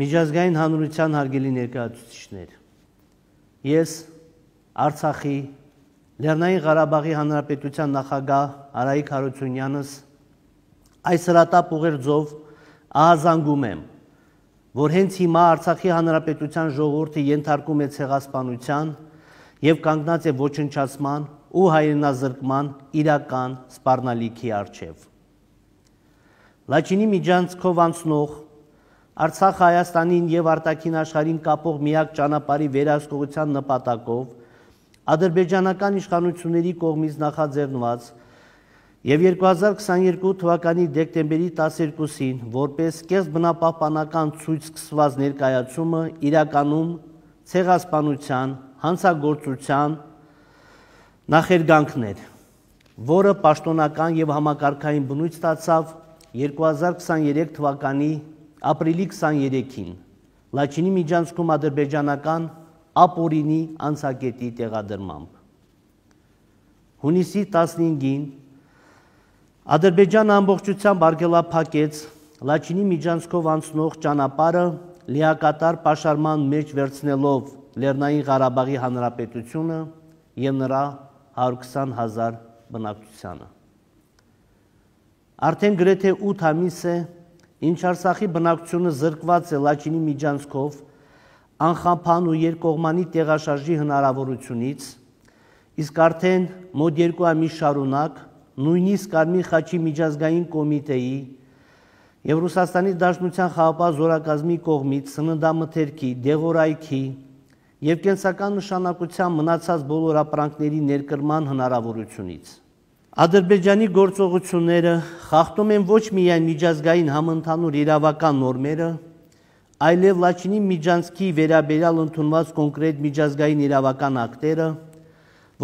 Միջազգային հանրության հարգելի ներկայացուցիչներ, ես Արցախի Լեռնային Ղարաբաղի Հանրապետության նախագահ Արայիկ Հարությունյանս այս հրատապ ուղերձով ահազանգում եմ, որ հենց հիմա Արցախի Հանրապետության ժողովուրդը ենթարկում է ցեղասպանության եւ կանգնած է ոչնչացման ու հայրենազրկման իրական սպառնալիքի առջև։ Լաչինի միջանցքով անցնող Արցախը Հայաստանին եւ արտաքին աշխարհին կապող միակ ճանապարհի վերահսկողության նպատակով ադրբեջանական իշխանությունների կողմից նախաձեռնված եւ 2022 թվականի դեկտեմբերի 12-ին որպես կեսբնապահպանական ցույց սկսված ներկայացումը իրականում ցեղասպանության, հանցագործության նախերգանքն էր, որը պաշտոնական եւ համակարգային բնույթ ստացավ 2023 թվականի ապրիլի 23-ին Լաչինի միջանցքում ադրբեջանական ապօրինի անցակետի տեղադրմամբ։ Հունիսի 15-ին Ադրբեջանը ամբողջությամբ արգելափակեց Լաչինի միջանցքով անցնող ճանապարհը լիակատար պաշարման մեջ վերցնելով Լեռնային Ղարաբաղի Հանրապետությունը եւ նրա 120,000 բնակչությանը։ Արդեն գրեթե 8 ամիս է, ինչ Արցախի բնակչությունը զրկված է Լաչինի միջանցքով անխափան ու երկկողմանի տեղաշարժի հնարավորությունից, իսկ արդեն մոտ 2 ամիս շարունակ նույնիսկ Կարմիր խաչի միջազգային կոմիտեի եւ Ռուսաստանի Դաշնության խաղաղ զորակազմի կողմից սննդամթերքի, դեղորայքի եւ կենսական նշանակության մնացած բոլոր ապրանքների ներկրման հնարավորությունից։ Ադրբեջանի գործողությունները խախտում են ոչ միայն միջազգային համընդհանուր իրավական նորմերը, այլև Լաչինի միջանցքի վերաբերյալ ընդունված կոնկրետ միջազգային իրավական ակտերը,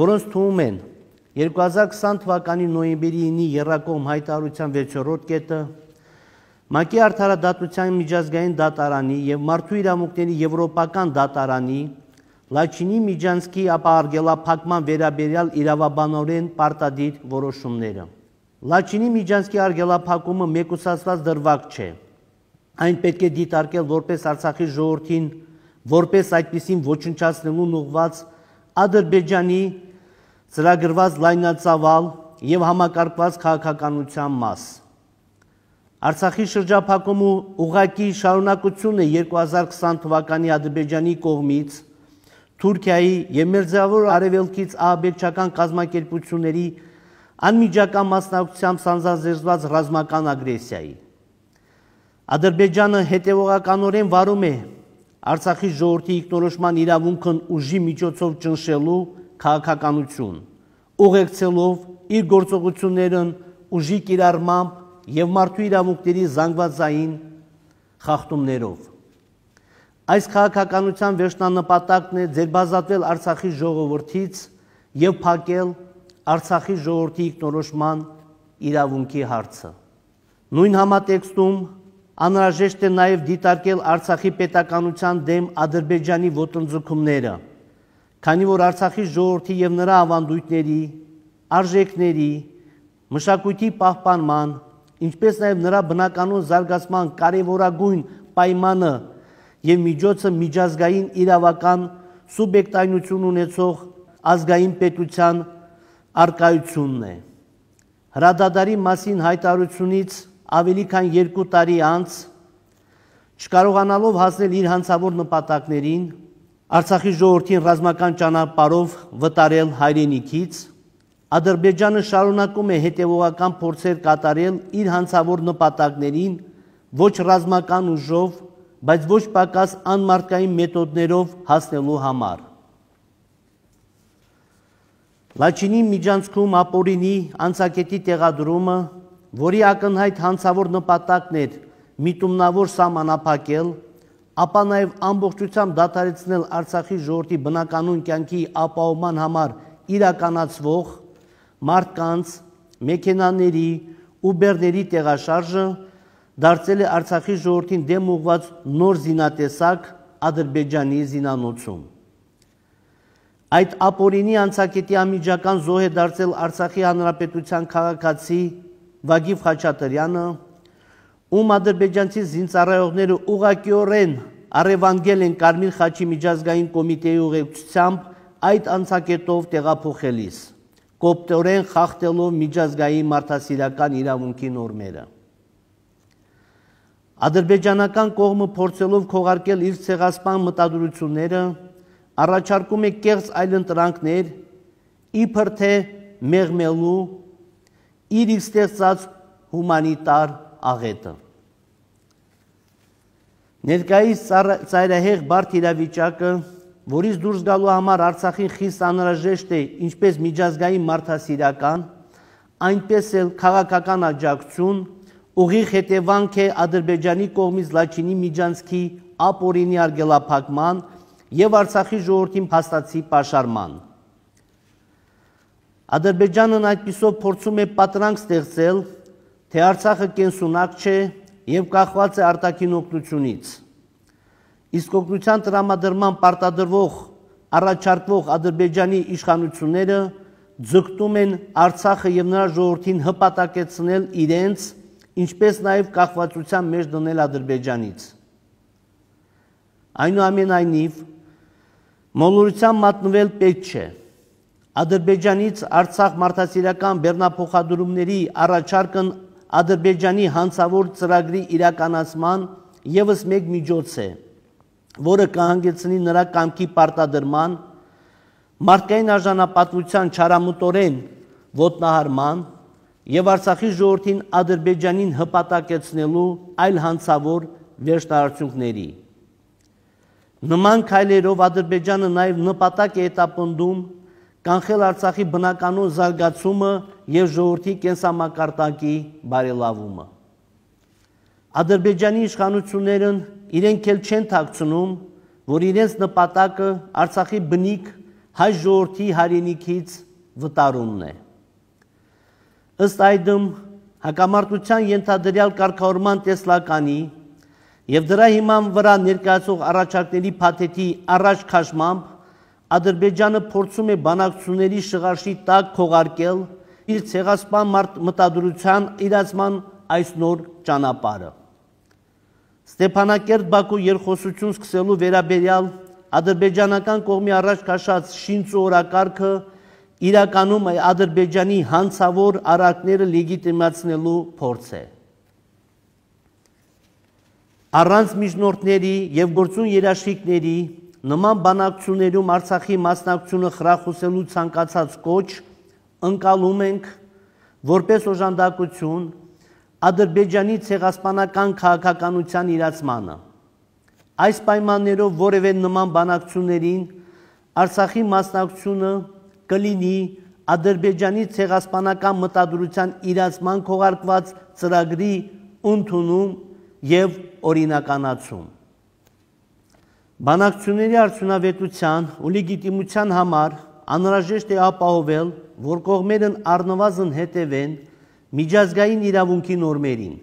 որոնց թվում են 2020 թվականի նոյեմբերի 9-ի եռակողմ հայտարարության 6-րդ կետը, ՄԱԿ-ի Արդարադատության միջազգային դատարանի եւ Մարդու իրավունքների եվրոպական դատարանի Լաչինի միջանցքի ապահարգելափակման վերաբերյալ իրավաբանորեն պարտադիր որոշումները։ Լաչինի միջանցքի արգելափակումը մեկուսացված դրվագ չէ։ Այն պետք է դիտարկել որպես Արցախի ժողովրդին, որպես այդպիսին ոչնչացնելուն ուղղված Ադրբեջանի ծրագրված լայնածավալ եւ համակարգված քաղաքականության մաս։ Արցախի շրջափակումը ուղղակի շարունակություն է 2020 թվականի Ադրբեջանի կողմից Թուրքիայի եւ Մերձավոր Արևելքից ահաբեկչական կազմակերպությունների անմիջական մասնակցությամբ սանձազերծված ռազմական ագրեսիայի։ Ադրբեջանը հետևողականորեն վարում է Արցախի ժողովրդի ինքնորոշման իրավունքն ուժի միջոցով ճնշելու քաղաքականություն, ուղեկցելով իր գործողություններն ուժի կիրառմամբ եւ մարդու իրավունքների զանգվածային խախտումներով։ Այս քաղաքականության վերջնանպատակն է ձերբազատվել Արցախի ժողովրդից եւ փակել Արցախի ժողովրդի ինքնորոշման իրավունքի հարցը։ Նույն համատեքստում անհրաժեշտ է նաեւ դիտարկել Արցախի պետականության դեմ Ադրբեջանի ոտնձգումները, քանի որ Արցախի ժողովրդի եւ նրա ավանդույթների, արժեքների, մշակույթի պահպանման, ինչպես նաեւ նրա բնականոն զարգացման կարևորագույն պայմանը եւ միջոցը միջազգային իրավական սուբյեկտայնություն ունեցող ազգային պետության արկայությունն է։ Հրադադարի մասին հայտարարությունից ավելի քան 2 տարի անց, չկարողանալով հասնել իր հանցավոր նպատակներին, Արցախի ժողովրդին ռազմական ճանապարհով վտարել հայրենիքից, Ադրբեջանը շարունակում է հետևողական փորձեր կատարել իր հանցավոր նպատակներին ոչ ռազմական ուժով, բայց ոչ պակաս անմարդկային մեթոդներով հասնելու համար։ Լաչինի միջանցքում ապօրինի անցակետի տեղադրումը, որի ակնհայտ հանցավոր նպատակն էր միտումնավոր սահմանափակել, ապա նաև ամբողջությամբ դադարեցնել Արցախի ժողովրդի բնականոն կյանքի ապահովման համար իրականացվող մարդկանց, մեքենաների, ուբերների տեղաշարժը դարձել է Արցախի ժողովրդին դեմ ուղղված նոր զինատեսակ Ադրբեջանի զինանոցում։ Այդ ապօրինի անցակետի անմիջական զոհ է դարձել Արցախի Հանրապետության քաղաքացի Վագիվ Խաչատրյանը, ում ադրբեջանցի զինծառայողները ուղղակիորեն առևանգել են Կարմիր խաչի միջազգային կոմիտեի ուղեկցությամբ այդ անցակետով տեղափոխելիս, կոպտորեն խախտելով միջազգային մարդասիրական իրավունքի նորմերը։ Ադրբեջանական կողմը փորձելով քողարկել իր ցեղասպան մտադրությունները, առաջարկում է կեղծ այլընտրանքներ, իբր թե մեղմելու իր ստեղծած հումանիտար աղետը։ Ներկայիս ծայրահեղ բարդ իրավիճակը, որից դուրս գալու համար Արցախին խիստ անհրաժեշտ է ինչպես միջազգային մարդասիրական, այնպես էլ քաղաքական աջակցություն, ուղիղ հետևանք է Ադրբեջանի կողմից Լաչինի միջանցքի ապօրինի արգելափակման և Արցախի ժողովրդին փաստացի պաշարման։ Ադրբեջանն այդպիսով փորձում է պատրանք ստեղծել, թե Արցախը կենսունակ չէ և կախված է արտաքին օգնությունից։ Իսկ օգնության տրամադրման պարտադրվող առաջարկվող Ադրբեջանի իշխանությունները ձգտում են Արցախը և նրա ժողովրդին հպատակեցնել իրենց, ինչպես նաև կախվածության մեջ դնել Ադրբեջանից։ Այնուամենայնիվ, մոլորության մատնվել պետք չէ։ Ադրբեջանից Արցախ մարդասիրական բեռնափոխադրումների առաջարկն Ադրբեջանի հանցավոր ծրագրի իրականացման ևս մեկ միջոց է, որը կհանգեցնի նրա կամքի պարտադրման, մարդկային արժանապատվության չարամտորեն ոտնահարման և Արցախի ժողովրդին Ադրբեջանին հպատակեցնելու այլ հանցավոր վերջնարարությունների։ Նման քայլերով Ադրբեջանը նաև նպատակ է հետապնդում կանխել Արցախի բնականոն զարգացումը և ժողովրդի կենսամակարդակի բարելավումը։ Ադրբեջանի իշխանություններն իրենք էլ չեն թաքցնում, որ իրենց նպատակը Արցախի բնիկ հայ ժողովրդի հայրենիքից վտարումն է։ Ըստ այդմ, հակամարտության ենթադրյալ կարգավորման տեսլականի և դրա հիման վրա ներկայացող առաջարկների փաթեթի առաջ քաշմամբ Ադրբեջանը փորձում է բանակցությունների շղարշի տակ քողարկել իր ցեղասպան մտադրության իրացման այս նոր ճանապարհը։ Ստեփանակերտ-Բաքու երկխոսություն սկսելու վերաբերյալ ադրբեջանական կողմի առաջ քաշած շինծու օրակարգը իրականում Ադրբեջանի հանցավոր արարքները լեգիտիմացնելու փորձ է։ Առանց միջնորդների և գործուն երաշխիքների նման բանակցություններում Արցախի մասնակցությունը խրախուսելու ցանկացած կոչ ընկալում ենք որպես օժանդակություն Ադրբեջանի ցեղասպանական քաղաքականության իրացմանը։ Այս պայմաններով որևէ նման բանակցություններին Արցախի մասնակցությունը կլինի Ադրբեջանի ցեղասպանական մտադրության իրացման քողարկված ծրագրի ընդունում և օրինականացում։ Բանակցությունների արդյունավետության ու լեգիտիմության համար անհրաժեշտ է ապահովել, որ կողմերն առնվազն հետևեն միջազգային իրավունքի նորմերին։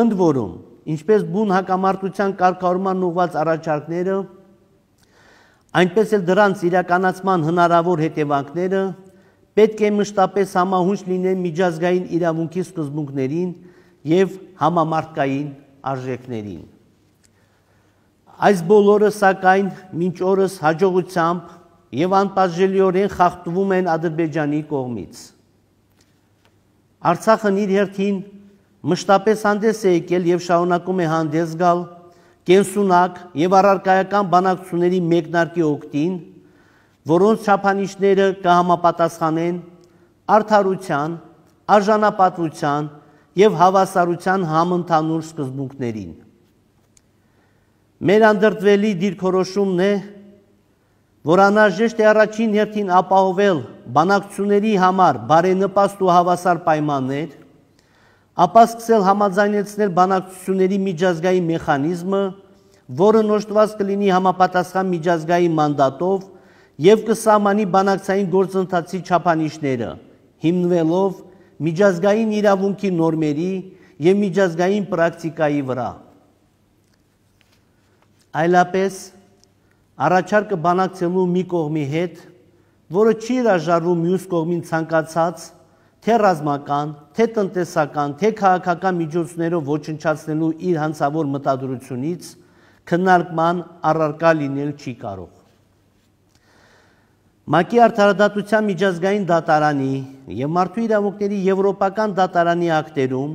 Ընդ որում, ինչպես բուն հակամարտության կարգավորման ուղղված առաջարկները, այնպես էլ դրանց իրականացման հնարավոր հետևանքները պետք է մշտապես համահունչ լինեն միջազգային իրավունքի սկզբունքներին և համամարտկային արժեքներին։ Այս բոլորը, սակայն, մինչ օրս հաջողությամբ և անպատժելիորեն խախտվում են Ադրբեջանի կողմից։ Արցախն իր հերթին մշտապես հանդես է եկել և շարունակում է հանդես գալ կենսունակ և առարկայական բանակցությունների մեկնարկի օգտին, որոնց չափանիշները կհամապատասխանեն արդարության, արժանապատվության և հավասարության համընդհանուր սկզբունքներին։ Մեր անդրդվելի դիրքորոշումն է, որ անհրաժեշտ է առաջին հերթին ապահովել բանակցությունների համար բարենպաստ ու հավասար պայմաններ, ապա սկսել համաձայնեցնել բանակցությունների միջազգային մեխանիզմը, որը նոշտված կլինի համապատասխան միջազգային մանդատով և կսահմանի բանակցային գործընթացի չափանիշները, հիմնվելով միջազգային իրավունքի նորմերի և միջազգային պրակտիկայի վրա։ Այլապես առաջարկը բանակցելու մի կողմի հետ, որը չի հրաժարվում մյուս կողմին ցանկացած թե ռազմական, թե տնտեսական, թե քաղաքական միջոցներով ոչնչացնելու իր հանցավոր մտադրությունից քննարկման առարկա լինել չի կարող։ ՄԱԿ-ի Արդարադատության միջազգային դատարանի և Մարդու իրավունքների եվրոպական դատարանի ակտերում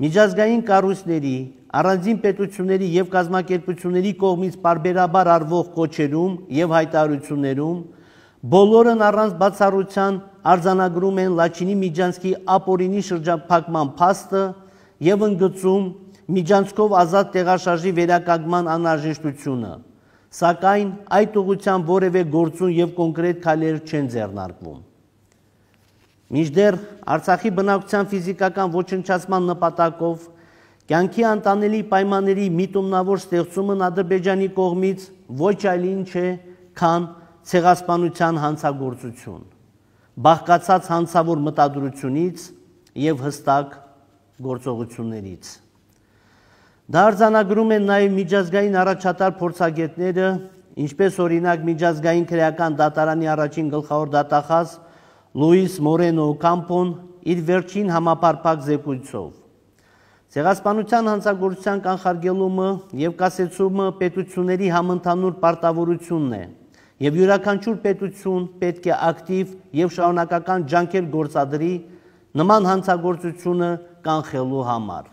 միջազգային կառույցների, առանձին պետությունների և կազմակերպությունների կողմից պարբերաբար արվող կոչերում և հայտարարություններում բոլորն առանց բացառության արձանագրում են Լաչինի Միջանցքի ապօրինի շրջափակման փաստը և ընդգծում միջանցքով ազատ տեղաշարժի վերականգնման անհրաժեշտությունը, սակայն այդ ուղղությամբ որևէ գործուն և կոնկրետ քայլեր չեն ձեռնարկվում։ Մինչդեռ Արցախի բնակչության ֆիզիկական ոչնչացման նպատակով կյանքի անտանելի պայմանների միտումնավոր ստեղծումն Ադրբեջանի կողմից ոչ այլ ինչ է, քան ցեղասպանության հանցագործություն, բաղկացած հանցավոր մտադրությունից և հստակ գործողություններից։ Դա արձանագրում են նաև միջազգային առաջատար փորձագետները, ինչպես օրինակ Միջազգային քրեական դատարանի առաջին գլխավոր դատախազ Լուիս Մորենո Օկամպոն իր վերջին համապարփակ զեկույցով։ Ցեղասպանության հանցագործության կանխարգելումը և կասեցումը պետությունների համընդհանուր պարտավորությունն է, և յուրաքանչյուր պետություն պետք է ակտիվ և շարունակական ջանքեր գործադրի նման հանցագործությունը կանխելու համար։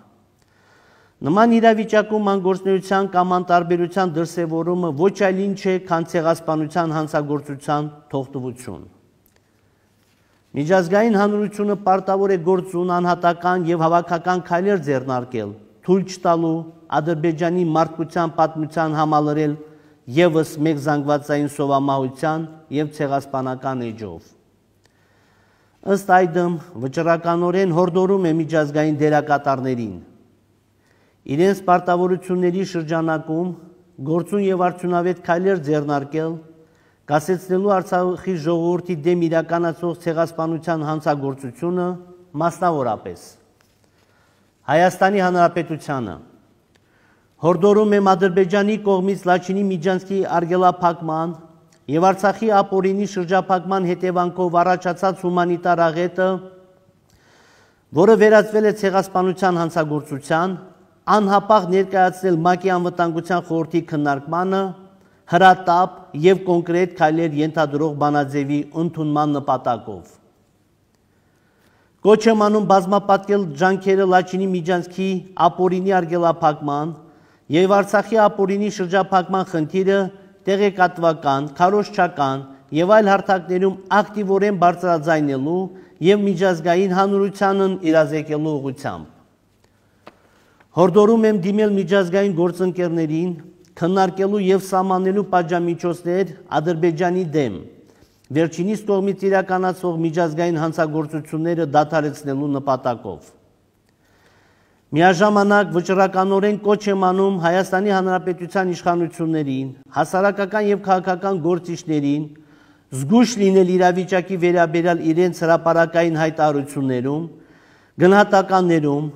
Նման իրավիճակում անգործնեության կամ անտարբերության դրսևորումը ոչ այլ ինչ է, քան ցեղասպանության հանցագործության թողտվություն։ Միջազգային հանրությունը պարտավոր է գործուն, անհատական և հավաքական քայլեր ձեռնարկել, թույլ չտալու Ադրբեջանի մարդկության պատմության համալրել ևս մեկ զանգվածային սովամահության և ցեղասպանական էջով։ Ըստ այդմ, վճռականորեն հորդորում է միջազգային դերակատարներին իրենց պարտավորությունների շրջանակում գործուն և արդյունավետ քայլեր ձեռնարկել, կասեցնելու Արցախի ժողովրդի դեմ իրականացվող ցեղասպանության հանցագործությունը, մասնավորապես Հայաստանի Հանրապետությանը, հորդորում եմ Ադրբեջանի կողմից Լաչինի Միջանցքի արգելափակման և Արցախի ապօրինի շրջափակման հետևանքով առաջացած հումանիտար աղետը, որը վերածվել է ցեղասպանության հանցագործության, անհապաղ ներկայացնել ՄԱԿ-ի Անվտանգության խորհրդի քննարկմանը հրատապ և կոնկրետ քայլեր ենթադրող բանաձևի ընդունման նպատակով։ Կոչ եմ անում բազմապատկել ջանքերը Լաչինի Միջանցքի ապօրինի արգելափակման և Արցախի ապօրինի շրջափակման խնդիրը տեղեկատվական, քարոզչական և այլ հարթակներում ակտիվորեն բարձրաձայնելու և միջազգային հանրությանն իրազեկելու ուղղությամբ։ Հորդորում եմ դիմել միջազգային գործընկերներին քննարկելու և սահմանելու պատժամիջոցներ Ադրբեջանի դեմ, վերջինիս կողմից իրականացվող միջազգային հանցագործությունները դադարեցնելու նպատակով։ Միաժամանակ վճռականորեն կոչ եմ անում Հայաստանի Հանրապետության իշխանություններին, հասարակական և քաղաքական գործիչներին զգույշ լինել իրավիճակի վերաբերյալ իրենց հրապարակային հայտարարություններում, գնահատականներում,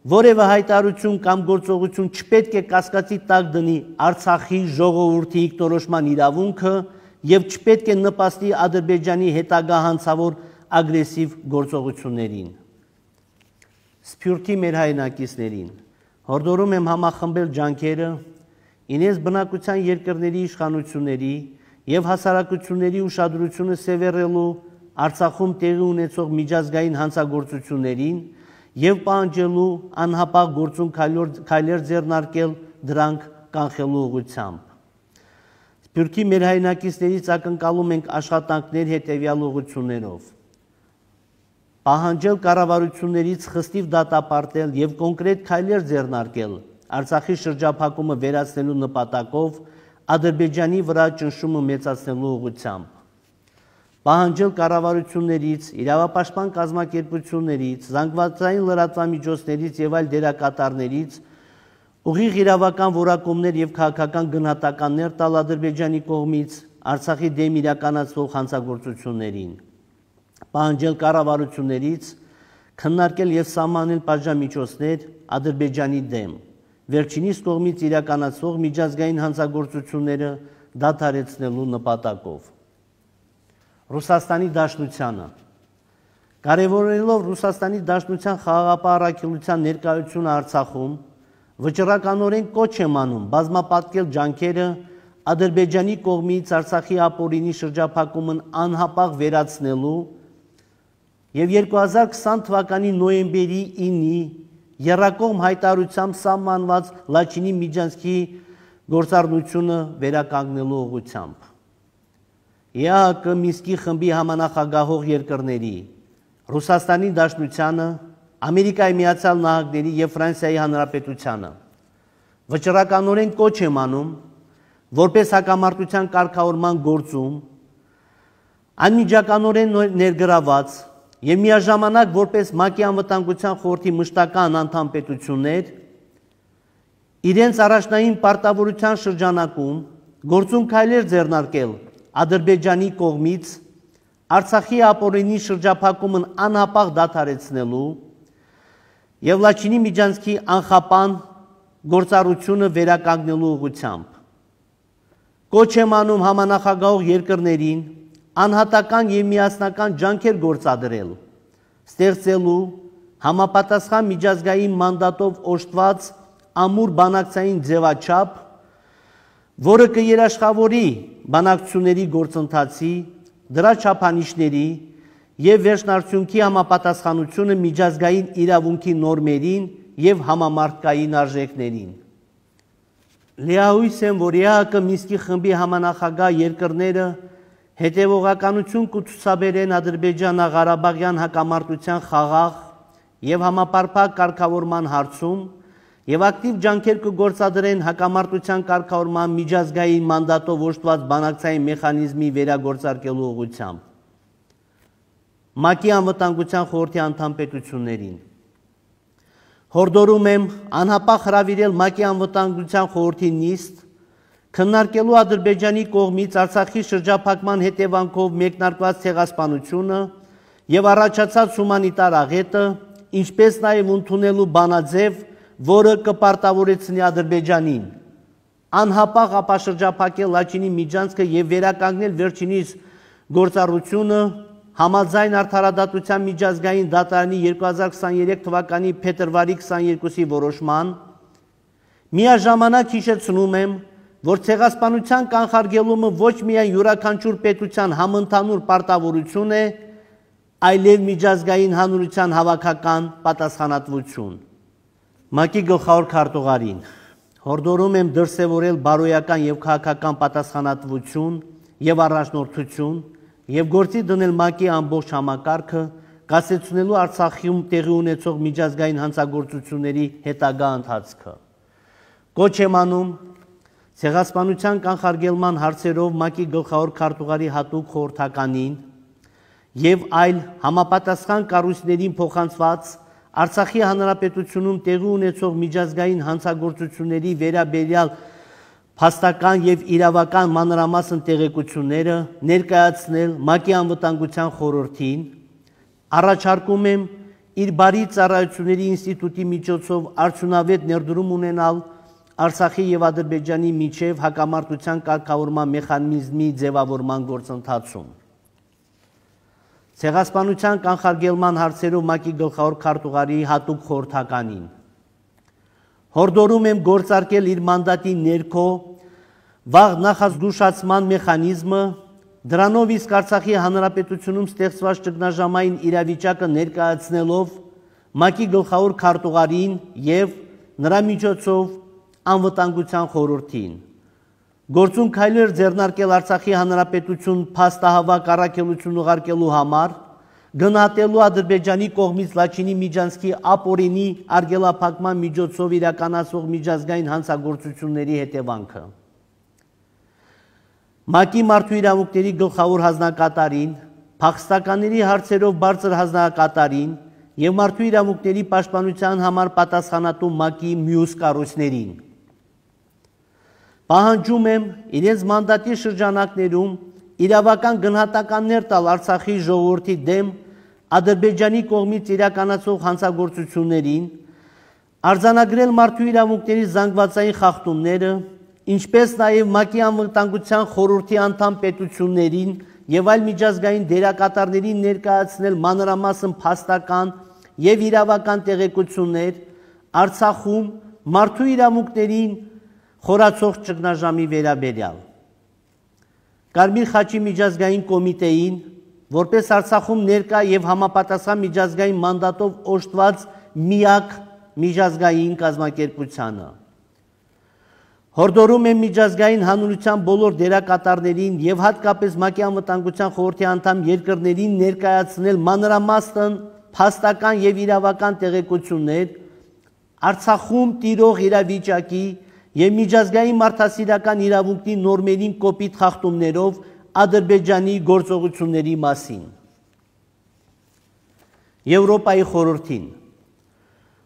որևէ հայտարարություն կամ գործողություն չպետք է կասկածի տակ դնի Արցախի ժողովրդի ինքնորոշման իրավունքը և չպետք է նպաստի Ադրբեջանի հետագա հանցավոր ագրեսիվ գործողություններին։ Սփյուռքի մեր հայրենակիցներին հորդորում եմ համախմբել ջանքերը իրենց բնակության երկրների իշխանությունների և հասարակությունների ուշադրությունը սևեռելու Արցախում տեղի ունեցող միջազգային հանցագործություններին և պահանջելու անհապաղ գործուն քայլեր ձեռնարկել դրանք կանխելու ուղղությամբ։ Սփյուռքի մեր հայրենակիցներից ակնկալում ենք աշխատանքներ հետևյալ ուղղություններով. պահանջել կառավարություններից խստիվ դատապարտել և կոնկրետ քայլեր ձեռնարկել Արցախի շրջափակումը վերացնելու նպատակով Ադրբեջանի վրա ճնշումը մեծացնելու ուղղությամբ։ Պահանջել կառավարություններից, իրավապաշտպան կազմակերպություններից, զանգվածային լրատվամիջոցներից և այլ դերակատարներից ուղիղ իրավական որակումներ և քաղաքական գնահատականներ տալ Ադրբեջանի կողմից Արցախի դեմ իրականացվող հանցագործություններին։ Պահանջել կառավարություններից քննարկել և սահմանել պատժամիջոցներ Ադրբեջանի դեմ, վերջինիս կողմից իրականացվող միջազգային հանցագործությունները դադարեցնելու նպատակով։ Ռուսաստանի Դաշնությանը Կարևորելով Ռուսաստանի Դաշնության խաղաղապահ առաքելության ներկայությունը Արցախում, վճռականորեն կոչ եմ անում բազմապատկել ջանքերը Ադրբեջանի կողմից Արցախի ապօրինի շրջափակումն անհապաղ վերացնելու եւ 2020 թվականի նոյեմբերի 9-ի եռակողմ հայտարարությամբ սահմանված Լաչինի միջանցքի գործառնությունը վերականգնելու ուղղությամբ։ ԵԱՀԿ Մինսկի խմբի համանախագահող երկրների Ռուսաստանի Դաշնությանը, Ամերիկայի Միացյալ Նահանգների եւ Ֆրանսիայի Հանրապետությանը վճռականորեն կոչ եմ անում, որպես հակամարտության կարգավորման գործում անմիջականորեն ներգրաված եւ միաժամանակ որպես ՄԱԿ-ի անվտանգության խորհրդի մշտական անդամ պետություններ իրենց առաջնային պարտավորության շրջանակում գործուն քայլեր ձեռնարկել Ադրբեջանի կողմից Արցախի ապօրինի շրջափակումն անհապաղ դադարեցնելու եւ Լաչինի միջանցքի անխափան գործառությունը վերականգնելու ուղղությամբ։ Կոչ եմ անում համանախագահող երկրներին անհատական եւ միասնական ջանքեր գործադրել, ստեղծելու համապատասխան միջազգային մանդատով օժտված ամուր բանակցային ձևաչափ, որը կերաշխավորի բանակցությունների գործընթացի, դրա չափանիշների եւ վերջնարդյունքի համապատասխանությունը միջազգային իրավունքի նորմերին եւ համամարտկային արժեքներին։ Լիահույս եմ, որ ԵԱՀԿ Մինսկի խմբի համանախագահ երկրները հետևողականություն կցուցաբերեն Ադրբեջանա-Ղարաբաղյան հակամարտության խաղաղ եւ համապարփակ կարգավորման հարցում եւ ակտիվ ջանքեր կգործադրեն հակամարտության կարգավորման միջազգային մանդատով օժտված բանակցային մեխանիզմի վերագործարկելու ուղղությամբ։ ՄԱԿ-ի անվտանգության խորհրդի անդամ պետություններին հորդորում եմ անհապաղ հրավիրել ՄԱԿ-ի անվտանգության խորհրդի նիստ քննարկելու Ադրբեջանի կողմից Արցախի շրջափակման հետևանքով մեկնարկված ցեղասպանությունը եւ առաջացած հումանիտար աղետը, ինչպես նաեւ ընդունելու բանաձև, որը կպարտավորեցնի Ադրբեջանին անհապաղ ապաշրջափակել Լաչինի միջանցքը եւ վերականգնել վերջինիս գործառությունը համաձայն Արդարադատության միջազգային դատարանի 2023 թվականի փետրվարի 22-ի որոշման, միաժամանակ հիշեցնում եմ, որ ցեղասպանության կանխարգելումը ոչ միայն յուրաքանչյուր պետության համընդհանուր պարտավորություն է, այլև միջազգային հանրության հավաքական պատասխանատվություն։ ՄԱԿ-ի գլխավոր քարտուղարին հորդորում եմ դրսևորել բարոյական եւ քաղաքական պատասխանատվություն եւ առաջնորդություն եւ գործի դնել ՄԱԿ-ի ամբողջ համակարգը, կասեցնելու Արցախում տեղի ունեցող միջազգային հանցագործությունների հետագա ընթացքը։ Կոչ եմ անում ցեղասպանության կանխարգելման հարցերով ՄԱԿ-ի գլխավոր քարտուղարի հատուկ խորհրդականին եւ այլ համապատասխան կառույցներին փոխանցված Արցախի հանրապետությունում տեղի ունեցող միջազգային հանցագործությունների վերաբերյալ փաստական եւ իրավական մանրամասն տեղեկությունները ներկայացնել ՄԱԿ-ի անվտանգության խորհրդին, առաջարկում եմ իր բարի ծառայությունների ինստիտուտի միջոցով արդյունավետ ներդրում ունենալ Արցախի եւ Ադրբեջանի միջև հակամարտության կարգավորման մեխանիզմի ձևավորման գործընթացում։ Ցեղասպանության կանխարգելման հարցերով ՄԱԿ-ի գլխավոր քարտուղարի հատուկ խորհրդականին հորդորում եմ գործարկել իր մանդատի ներքո վաղ նախազգուշացման մեխանիզմը, դրանով իսկ Արցախի հանրապետությունում ստեղծված ճգնաժամային իրավիճակը ներկայացնելով ՄԱԿ-ի գլխավոր քարտուղարին եւ նրա միջոցով անվտանգության խորհրդին գործուն քայլեր ձեռնարկել Արցախի հանրապետություն փաստահավաք առաքելություն ուղարկելու համար, գնահատելու Ադրբեջանի կողմից Լաչինի միջանցքի ապօրինի արգելափակման միջոցով իրականացվող միջազգային հանցագործությունների հետևանքը։ ՄԱԿ-ի մարդու իրավունքների գլխավոր հանձնակատարին, փախստականների հարցերով բարձր հանձնակատարին եւ մարդու իրավունքների պաշտպանության համար պատասխանատու ՄԱԿ-ի մյուս կառույցներին պահանջում եմ իրենց մանդատի շրջանակներում իրավական գնահատականներ տալ Արցախի ժողովրդի դեմ Ադրբեջանի կողմից իրականացվող հանցագործություններին, արձանագրել մարդու իրավունքների զանգվածային խախտումները, ինչպես նաև ՄԱԿ-ի անվտանգության խորհրդի անդամ պետություններին եւ այլ միջազգային դերակատարներին ներկայացնել մանրամասն փաստական եւ իրավական տեղեկություններ Արցախում մարդու իրավունքներին խորացող ճգնաժամի վերաբերյալ։ Կարմիր խաչի միջազգային կոմիտեին, որպես Արցախում ներկա եւ համապատասխան միջազգային մանդատով օժտված միակ միջազգային կազմակերպությանը։ Հորդորում եմ միջազգային հանրության բոլոր դերակատարներին եւ հատկապես ՄԱԿ-ի անվտանգության խորհրդի անդամ երկրներին ներկայացնել մանրամասն փաստական եւ իրավական տեղեկություններ Արցախում տիրող իրավիճակի եւ միջազգային մարդասիրական իրավունքի նորմերին կոպիտ խախտումներով Ադրբեջանի գործողությունների մասին։ Եվրոպայի խորհրդին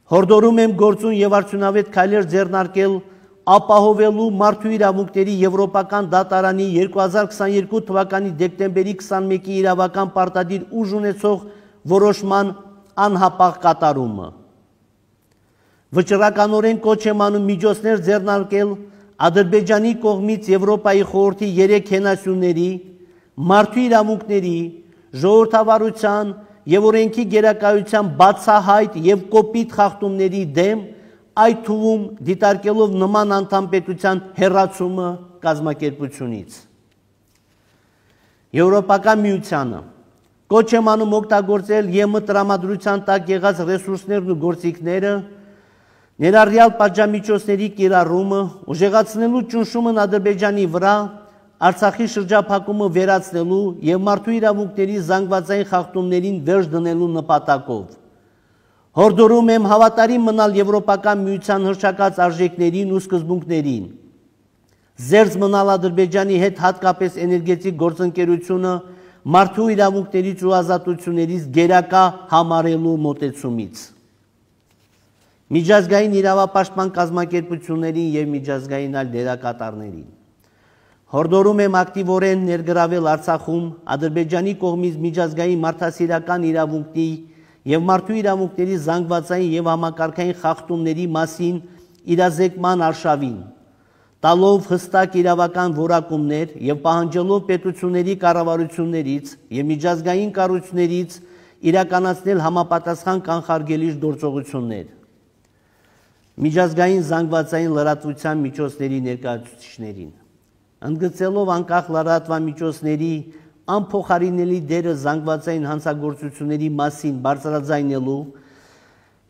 հորդորում եմ գործուն եւ արդյունավետ քայլեր ձեռնարկել ապահովելու մարդու իրավունքների Եվրոպական դատարանի 2022 թվականի դեկտեմբերի 21-ի իրավական պարտադիր ուժ ունեցող որոշման անհապաղ կատարումը։ Վճռականորեն կոչ եմ անում միջոցներ ձեռնարկել Ադրբեջանի կողմից Եվրոպայի խորհրդի 3 հենասյուների, մարդու իրավունքների, ժողովրդավարության եւ օրենքի գերակայության բացահայտ եւ կոպիտ խախտումների դեմ այդ թվում դիտարկելով նման անդամպետության հեռացումը կազմակերպությունից։ Եվրոպական միությանը կոչ եմ անում օգտագործել ԵՄ տրամադրության տակ եղած ռեսուրսներն ու գործիքները, ներառյալ պատժամիջոցների կիրառումը, ուժեղացնելու ճնշումն Ադրբեջանի վրա, Արցախի շրջափակումը վերացնելու եւ մարդու իրավունքների զանգվածային խախտումներին վերջ դնելու նպատակով։ Հորդորում եմ հավատարիմ մնալ Եվրոպական միության հռչակած արժեքներին ու սկզբունքներին, զերծ մնալ Ադրբեջանի հետ հատկապես էներգետիկ գործընկերությունը մարդու իրավունքներից ու ազատություններից գերակա համարելու մոտեցումից։ Միջազգային իրավապաշտպան կազմակերպություններին եւ միջազգային այլ դերակատարներին հորդորում եմ ակտիվորեն ներգրավել Արցախում Ադրբեջանի կողմից միջազգային մարդասիրական իրավունքի եւ մարդու իրավունքների զանգվածային եւ համակարգային խախտումների մասին իրազեկման արշավին, տալով հստակ իրավական որակումներ եւ պահանջելով պետությունների կառավարություններից եւ միջազգային կառույցներից իրականացնել համապատասխան կանխարգելիչ գործողություններ։ Միջազգային զանգվածային լրատվության միջոցների ներկայացուցիչներին, ընդգծելով անկախ լրատվամիջոցների անփոխարինելի դերը զանգվածային հանցագործությունների մասին բարձրաձայնելու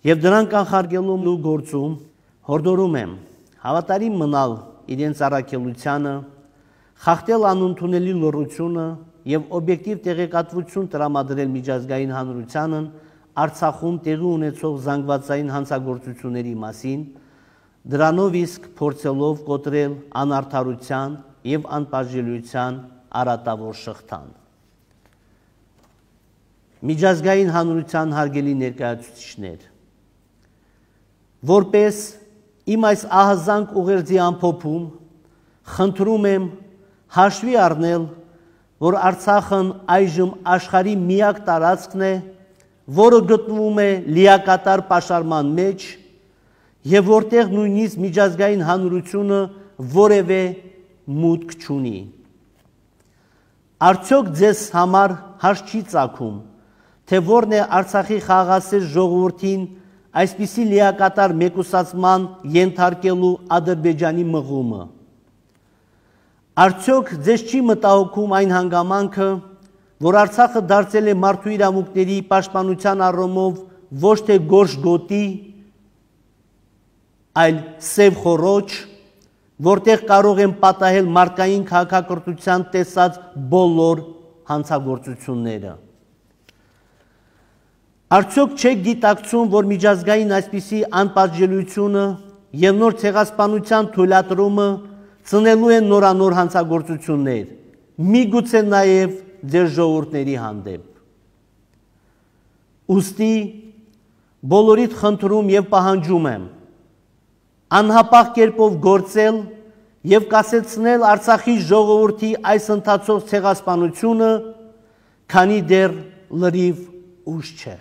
եւ դրան կանխարգելելու գործում հորդորում եմ հավատարիմ մնալ իրենց առաքելությանը, խախտել անընդունելի լռությունը եւ օբյեկտիվ տեղեկատվություն տրամադրել միջազգային հանրությանն Արցախում տեղի ունեցող զանգվածային հանցագործությունների մասին, դրանով իսկ փորձելով կոտրել անարդարության եւ անպատժելիության արատավոր շղթան։ Միջազգային հանրության հարգելի ներկայացուցիչներ, որպես իմ այս ահազանգ ուղերձի ամփոփում, խնդրում եմ հաշվի առնել, որ Արցախն այժմ աշխարհի միակ տարածքն է, որը գտնվում է լիակատար պաշարման մեջ եւ որտեղ նույնիսկ միջազգային հանրությունը որևէ մուտք չունի։ Արդյոք ձեզ համար հաշ չի ծագում, թե որն է Արցախի խաղաղասեր ժողովրդին այսպիսի լիակատար մեկուսացման ենթարկելու Ադրբեջանի մղումը։ Արդյոք ձեզ չի մտահոգում այն հանգամանքը, որ Արցախը դարձել է մարդու իրավունքների պաշտպանության առումով ոչ թե գորշ գոտի, այլ սև խոռոչ, որտեղ կարող են պատահել մարդկային քաղաքակրթության տեսած բոլոր հանցագործությունները։ Արդյոք չեք գիտակցում, որ միջազգային այսպիսի անպատժելիությունը եւ նոր ցեղասպանության թույլատրումը ծնելու են նորանոր հանցագործություններ, միգուցե նաեւ ձեր ժողովուրդների հանդեպ։ Ուստի բոլորիդ խնդրում եւ պահանջում եմ անհապաղ կերպով գործել եւ կասեցնել Արցախի ժողովրդի այս ընթացող ցեղասպանությունը, քանի դեռ լրիվ ուշ չէ։